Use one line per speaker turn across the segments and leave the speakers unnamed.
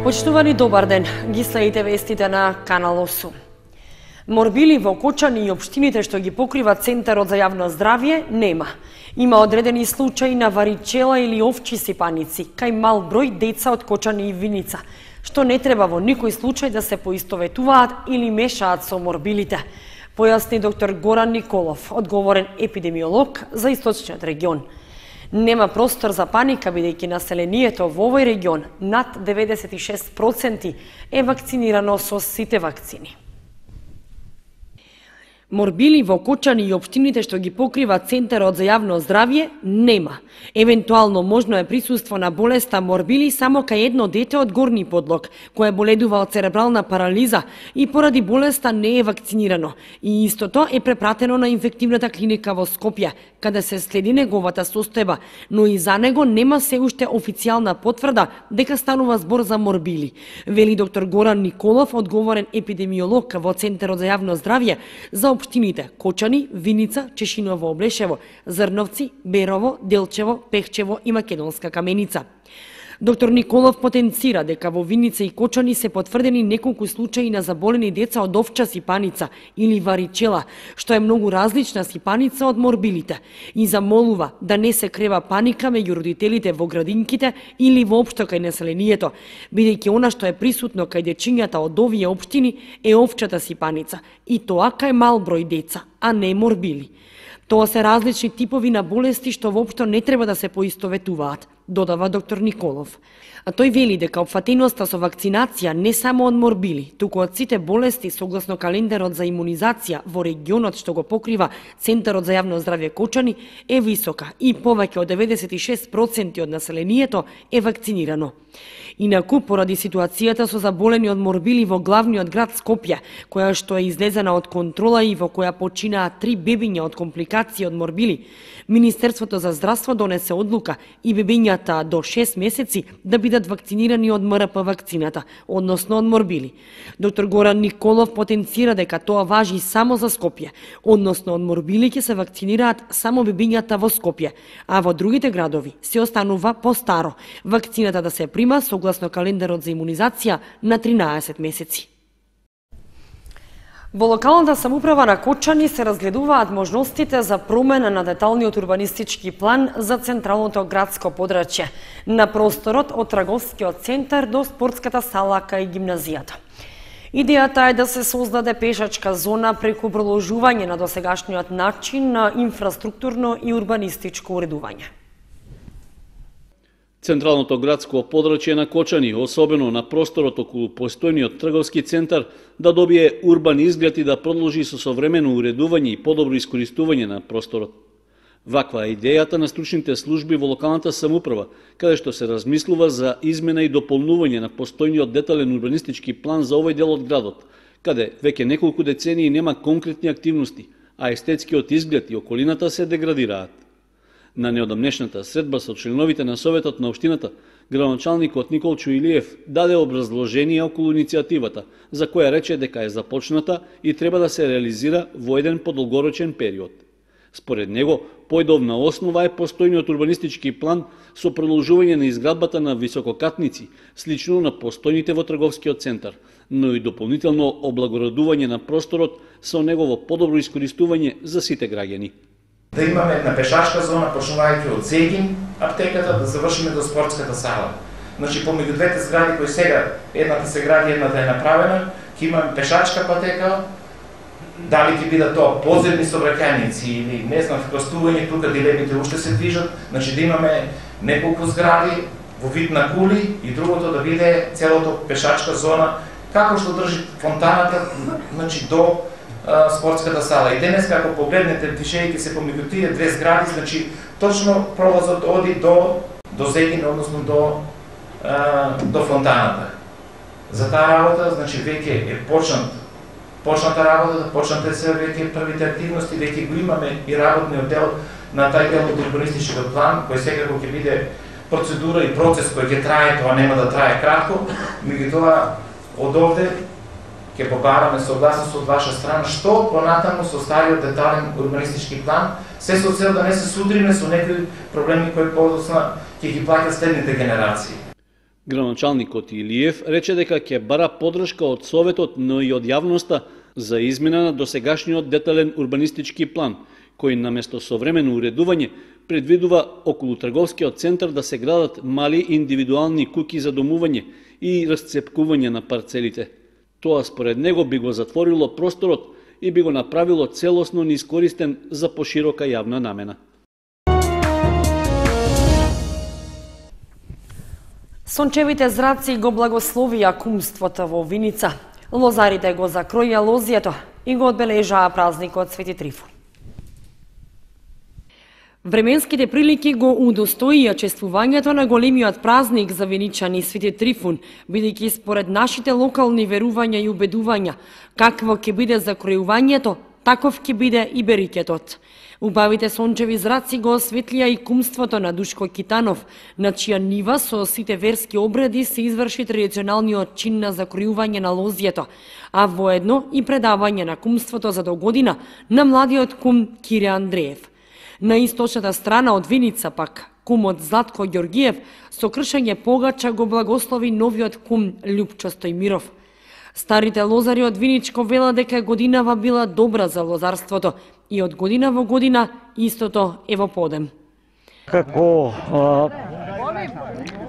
Почитувани, добар ден. Ги следите вестите на Канал 8. Морбили во Кочани и општините што ги покрива Центарот за јавно здравје нема. Има одредени случаи на варичела или овчи сипаници, кај мал број деца од Кочани и Виница, што не треба во никој случај да се поистоветуваат или мешаат со морбилите, појасни доктор Горан Николов, одговорен епидемиолог за Источниот регион. Нема простор за паника, бидејќи населението во овој регион над 96% е вакцинирано со сите вакцини. Морбили во Кочани и општините што ги покрива Центарот за јавно здравје нема. Евентуално можно е присуство на болеста морбили само кај едно дете од Горни Подлог, кое боледува од церебрална парализа и поради болеста не е вакцинирано. И истото е препратено на инфективната клиника во Скопје, каде се следи неговата состојба, но и за него нема се уште официјална потврда дека станува збор за морбили, вели доктор Горан Николов, одговорен епидемиолог во Центарот за јавно здравје за општините Кочани, Виница, Чешиново, Облешево, Зрновци, Берово, Делчево, Пехчево и Македонска Каменица. Доктор Николов потенцира дека во Виница и Кочани се потврдени неколку случаи на заболени деца од овча сипаница или варичела, што е многу различна сипаница од морбилите, и замолува да не се крева паника меѓу родителите во градинките или воопшто кај населението, бидејќи она што е присутно кај дечињата од овие општини е овчата сипаница, и тоа кај мал број деца, а не морбили. Тоа се различни типови на болести што воопшто не треба да се поистоветуваат, додава доктор Николов. А тој вели дека опфатеноста со вакцинација не само од морбили, туку од сите болести согласно календарот за имунизација во регионот што го покрива Центарот за јавно здравје Кочани е висока и повеќе од 96% од населението е вакцинирано. Инаку, поради ситуацијата со заболени од морбили во главниот град Скопје, која што е излезена од контрола и во која починаа 3 бебиња од компликации од морбили, Министерството за здравство донесе одлука и бебињата до 6 месеци да бидат вакцинирани од МРП вакцината, односно од морбили. Доктор Горан Николов потенцира дека тоа важи само за Скопје, односно од морбили ќе се вакцинираат само бебињата во Скопје, а во другите градови се останува по-старо вакцината да се прима согласно календарот за имунизација на 13 месеци. Во локалната самоуправа на Кочани се разгледуваат можностите за промена на деталниот урбанистички план за централното градско подрачје на просторот од трговскиот центар до спортската сала кај гимназијата. Идејата е да се создаде пешачка зона преку продолжување на досегашниот начин на инфраструктурно и урбанистичко уредување.
Централното градско подрачје на Кочани, особено на просторот околу постојниот трговски центар, да добие урбан изглед и да продолжи со современо уредување и подобро искористување на просторот. Ваква е идејата на стручните служби во локалната самоуправа, каде што се размислува за измена и дополнување на постојниот детален урбанистички план за овој дел од градот, каде веќе неколку децении нема конкретни активности, а естетскиот изглед и околината се деградираат. На неодамнешната средба со членовите на Советот на општината, градоначалникот Николчо Илиев даде образложение околу иницијативата, за која рече дека е започната и треба да се реализира во еден подолгорочен период. Според него, појдовна основа е постојниот урбанистички план со продолжување на изградбата на висококатници, слично на постојните во трговскиот центар, но и дополнително облагородување на просторот со негово подобро искористување за сите граѓани.
Да имаме една пешачка зона, почнувајќи од Зегин аптеката, да завршиме до спортската сала. Значи, помеѓу двете згради кои сега, едната се гради, едната е направена, ќе имаме пешачка патека, дали ќе бидат тоа подземни сообраќајници или не знам, крстување, тука дилемите уште се движат, значи да имаме неколку згради во вид на кули и другото да биде целото пешачка зона, како што држи фонтаната, значи до спортската сала. И денес, како погледнете, движејќи се помеѓу тие две згради, значи точно пролазот оди до Зегин, односно до фонтаната. За таа работа, значи веќе е почната работа, почнате се веќе првите активности, веќе го имаме и работниот дел на тај дел од урбанистичкиот план, кој секако ќе биде процедура и процес кој ќе трае, тоа нема да трае кратко, меѓутоа од овде ќе побараме согласност од ваша страна што понатаму со стариот детален урбанистички план, се со цел да не се судриме со некои проблеми кои подоцна ќе ги плаќат следните генерации.
Градоначалникот Илиев рече дека ќе бара поддршка од Советот, но и од јавноста за измена на досегашниот детален урбанистички план, кој наместо современо уредување предвидува околу трговскиот центар да се градат мали индивидуални куќи за домување и расцепкување на парцелите. Тоа според него би го затворило просторот и би го направило целосно неискористен за поширока јавна намена.
Сончевите зраци го благословија кумството во Виница. Лозарите го закроја лозјето и го одбележаа празникот Свети Трифун. Временските прилики го удостоија чествувањето на големиот празник за виничани Свети Трифун, бидејќи според нашите локални верувања и убедувања, какво ќе биде закројувањето, таков ќе биде и берикетот. Убавите сончеви зраци го осветлија и кумството на Душко Китанов, на чија нива со сите верски обреди се изврши традиционалниот чин на закројување на лозјето, а воедно и предавање на кумството за догодина на младиот кум Кире Андреев. На источната страна од Виница пак, кумот Златко Ѓоргиев со кршење погача го благослови новиот кум Љупчо Стојмиров. Старите лозари од Виничко велат дека годинава била добра за лозарството и од година во година истото е во подем.
Како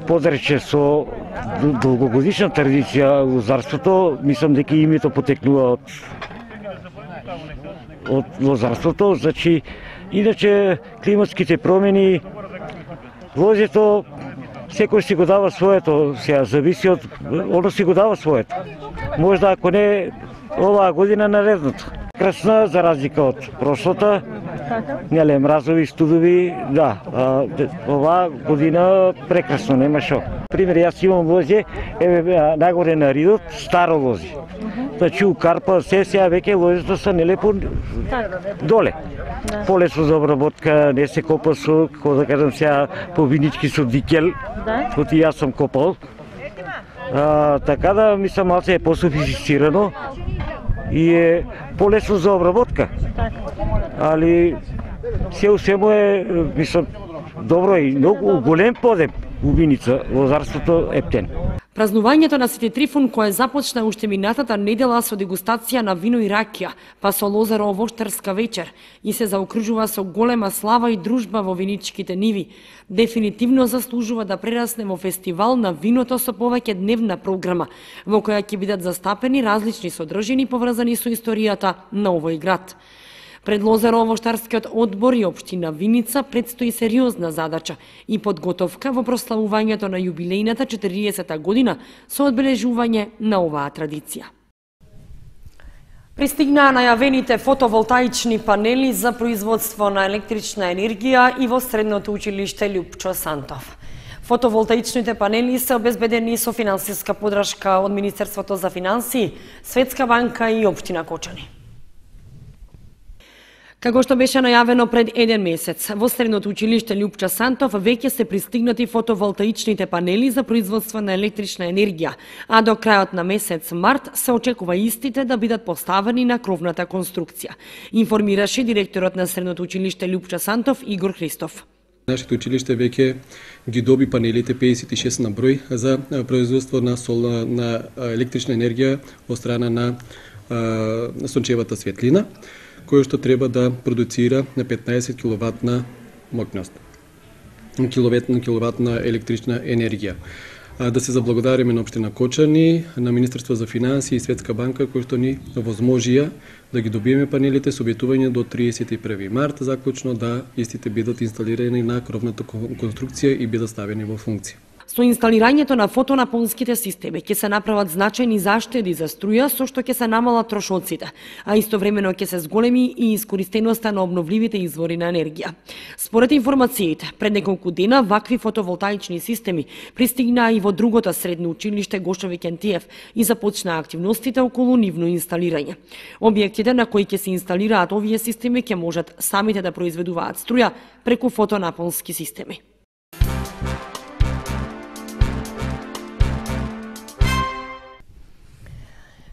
подрече со долгогодишна традиција лозарството, мислам дека името потекнува од лозарството, значи иначе климатските промени, лозето секој си го дава своето, сега зависи од оно си го дава своето. Можда ако не оваа година наредното. Красна за разлика од прошлата, неле мразови, студови, да, оваа година прекрасно, нема шо. Пример, јас имам лозе, еве нагоре на ридот, старо лозе. Значи у Карпа се сега веќе лозето са нелепо доле. Полесно за обработка, не се копа со, како да кажам сега, по винички со дикел, кој јас сум копал. Така да, мислам, малце е пософистицирано и е полесно за обработка. Али се у свему е, мислам, добро и многу голем подем у Виница, лозарството Ептен.
Празнувањето на Свети Трифун, кое започна уште минатата недела со дегустација на вино и ракија, па со лозаро-овоштарска вечер и се заокружува со голема слава и дружба во виничките ниви, дефинитивно заслужува да прерасне во фестивал на виното со повеќе дневна програма, во која ќе бидат застапени различни содржини поврзани со историјата на овој град. Пред Лозаро-овоштарскиот одбор и општина Виница предстои сериозна задача и подготовка во прославувањето на јубилејната 40-та година со одбележување на оваа традиција. Пристигнаа најавените фотоволтаични панели за производство на електрична енергија и во Средното училиште Љупчо Сантов. Фотоволтаичните панели се обезбедени со финансиска поддршка од Министерството за финансии, Светска банка и општина Кочани. Како што беше најавено пред еден месец, во Средното училиште Љупчо Сантов веќе се пристигнати фотоволтаичните панели за производство на електрична енергија, а до крајот на месец март се очекува истите да бидат поставени на кровната конструкција, информираше директорот на Средното училиште Љупчо Сантов Игор Христов.
Нашето училиште веќе ги доби панелите 56 на број за производство на електрична енергија од страна на сончевата светлина, кој што треба да продуцира на 15 киловатна моќност, киловатна електрична енергија. Да се заблагодариме на општина Кочани, на Министерство за финансии и Светска банка, кои што ни возможија да ги добиеме панелите со обетување до 31 март, заклучно да истите бидат инсталирани на кровната конструкција и бидат ставени во функција.
Со инсталирањето на фотонапонските системи ќе се направат значајни заштеди за струја, со што ќе се намалат трошоците, а истовремено ќе се зголеми и искористеноста на обновливите извори на енергија. Според информациите, пред неколку дена вакви фотоволтаични системи пристигнаа и во другото средно училиште Гошови Кентиев и започнаа активностите околу нивно инсталирање. Објектите на кои ќе се инсталираат овие системи ќе можат самите да произведуваат струја преку фотонапонски системи.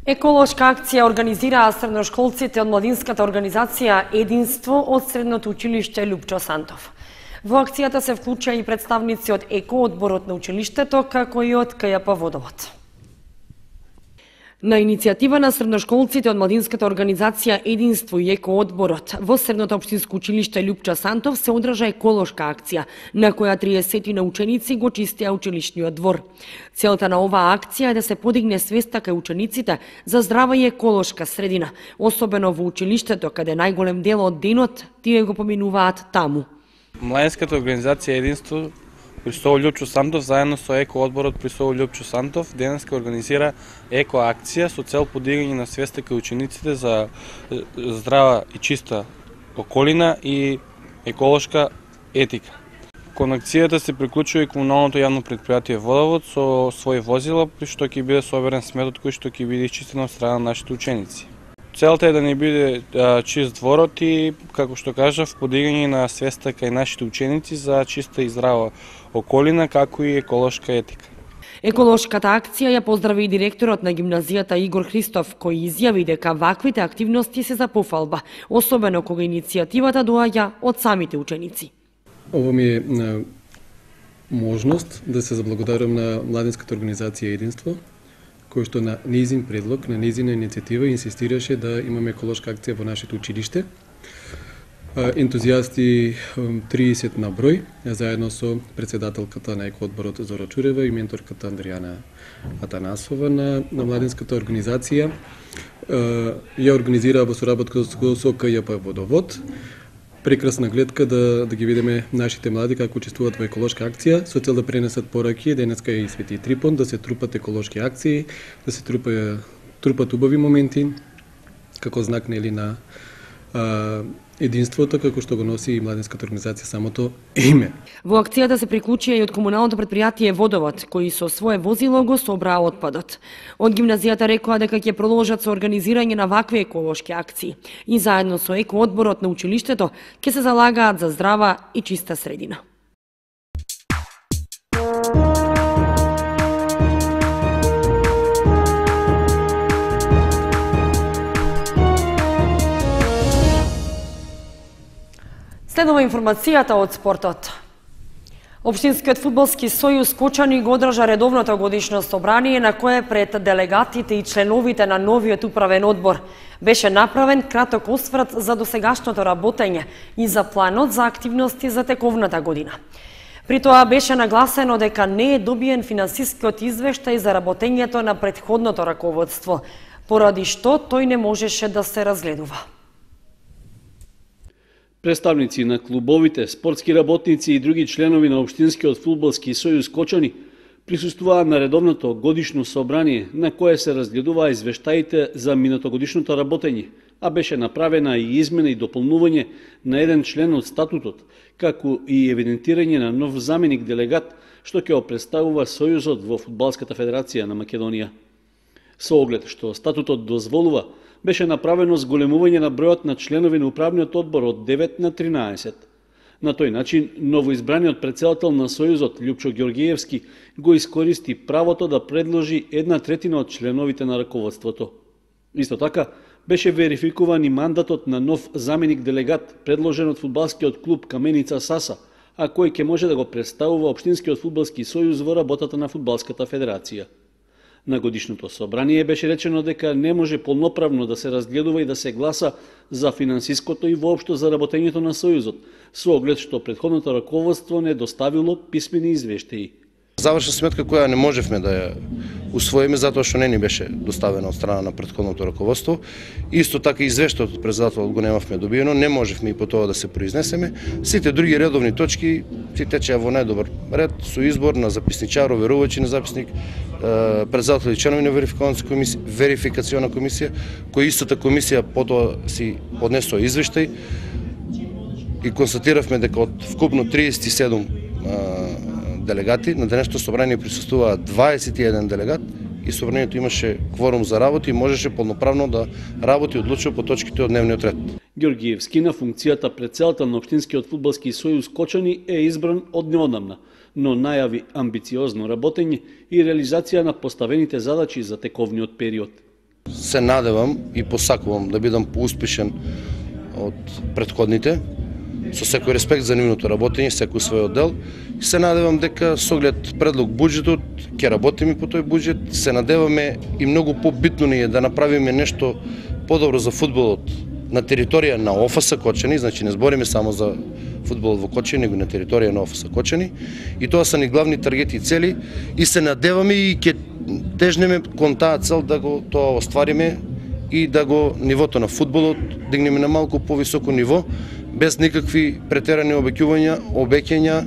Еколошка акција организираа средношколците од младинската организација Единство од Средното училиште Љупчо Сантов. Во акцијата се вклучија и представници од Еко-одборот на училиштето, како и од КЈП Водовод. На иницијатива на средношколците од младинската организација Единство и Еко-одборот во Средното општинско училиште Љупчо Сантов се одржа еколошка акција, на која 30 на ученици го чистеа училишниот двор. Целта на оваа акција е да се подигне свеста кај учениците за здрава и еколошка средина, особено во училиштето каде најголем дел од денот тие го поминуваат таму.
Младинската организација Единство при СОУ Љупчо Сантов заедно со Еко-одборот при СОУ Љупчо Сантов денеска организира еко-акција со цел подигање на свеста кај учениците за здрава и чиста околина и еколошка етика. Кон акцијата се приклучува и комуналното јавно претпријатие Водовод со своји возила, при што ќе биде соберен сметот кој што ќе биде исчистен од страна на нашите ученици. Целта е да не биде чист дворот и, како што кажав, подигање на свеста кај нашите ученици за чиста и здрава околина, како и еколошка етика.
Еколошката акција ја поздрави и директорот на гимназијата Игор Христов, кој изјави дека ваквите активности се за пофалба, особено кога иницијативата доаѓа од самите ученици.
Ово ми е можност да се заблагодарам на младинската организација Единство, кој што на нејзин предлог, на нејзина иницијатива инсистираше да имаме еколошка акција во нашето училиште. Ентузијасти 30 на број, заедно со председателката на Еко-одборот Зора Чурева и менторката Андријана Атанасова на младинската организација. Ја организираа во соработка со КЈП Водовод. Прекрасна гледка да ги видиме нашите млади како учествуваат во еколошка акција, со цел да пренесат пораки. Денеска е и Свети Трипон, да се трупат еколошки акции, да се трупат убави моменти, како знак нели на единството, како што го носи и младинската организација самото име.
Во акцијата се приклучија и од комуналното претпријатие Водовод, кои со свое возило го собраа отпадот. Од гимназијата рекоа дека ќе продолжат со организирање на вакви еколошки акции и заедно со Еко-одборот на училиштето ќе се залагаат за здрава и чиста средина. Следува информацијата од спортот. Општинскиот фудбалски сојуз Кочани го одржа редовното годишно собрание на кое пред делегатите и членовите на новиот управен одбор беше направен краток осврт за досегашното работење и за планот за активности за тековната година. При тоа беше нагласено дека не е добиен финансискиот извештај за работењето на претходното раководство, поради што тој не можеше да се разгледува.
Представници на клубовите, спортски работници и други членови на Општинскиот фудбалски сојуз Кочани присуствуваа на редовното годишно собрание на кое се разгледуваа извештаите за минатогодишното работење, а беше направена и измена и дополнување на еден член од статутот, како и евидентирање на нов заменик делегат што ќе го представува сојузот во Фудбалската федерација на Македонија. Со оглед што статутот дозволува, беше направено зголемување на бројот на членови на управниот одбор од 9 на 13. На тој начин, новоизбраниот претседател на Сојузот Љупчо Ѓоргиевски го искористи правото да предложи 1/3 од членовите на раководството. Исто така, беше верификуван и мандатот на нов заменик делегат предложен од фудбалскиот клуб Каменица Саса, а кој ќе може да го представува Општинскиот фудбалски сојуз во работата на Фудбалската федерација. На годишното собрание беше речено дека не може полноправно да се разгледува и да се гласа за финансиското и воопшто за работењето на Сојузот, со оглед што претходното раководство не доставило писмени извештаи.
Завршна сметка која не можевме да ја усвоиме затоа што не ни беше доставена од страна на претходното раководство. Исто така извештајот од председателот го немавме добиено, не можевме и по тоа да се произнесеме. Сите други редовни точки си течеа во најдобар ред со избор на записничар, оверувачи на записник, председател и членови на верификациона комисија, која истата комисија потоа си поднесоа извештај и констатиравме дека од вкупно 37 делегати, на денешното собрание присуствуваа 21 делегат и собранието имаше кворум за работа и можеше полноправно да работи и одлучува по точките од дневниот ред.
Ѓоргиевски на функцијата претседател на Општинскиот фудбалски сојуз Кочани е избран од неодамна, но најави амбициозно работење и реализација на поставените задачи за тековниот период.
Се надевам и посакувам да бидам поуспешен од претходните, со секој респект за нивното работење, секој свој оддел. И се надевам дека со оглед предлог буџетот ќе работиме по тој буџет, се надеваме и многу побитно ни е да направиме нешто подобро за фудбалот на територија на ОФС Кочани, значи не збориме само за фудбалот во Кочани, него на територија на ОФС Кочани. И тоа се ни главни таргети и цели и се надеваме и ќе тежнеме кон таа цел да го тоа оствариме и да го нивото на фудбалот дигнеме на малку повисоко ниво, без никакви претерани обеќања,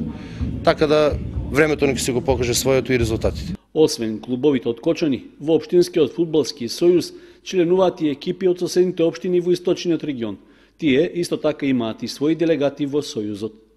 така да времето нека се го покаже своето и резултатите.
Освен клубовите од Кочани, во Општинскиот фудбалски сојуз членуваат и екипи од соседните општини во источниот регион. Тие исто така имаат и своји делегати во сојузот.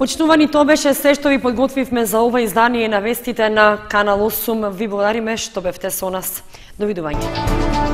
Почитувани, тоа беше се што ви подготвивме за ова издание на вестите на Канал 8. Ви благодариме што бевте со нас. Довидување.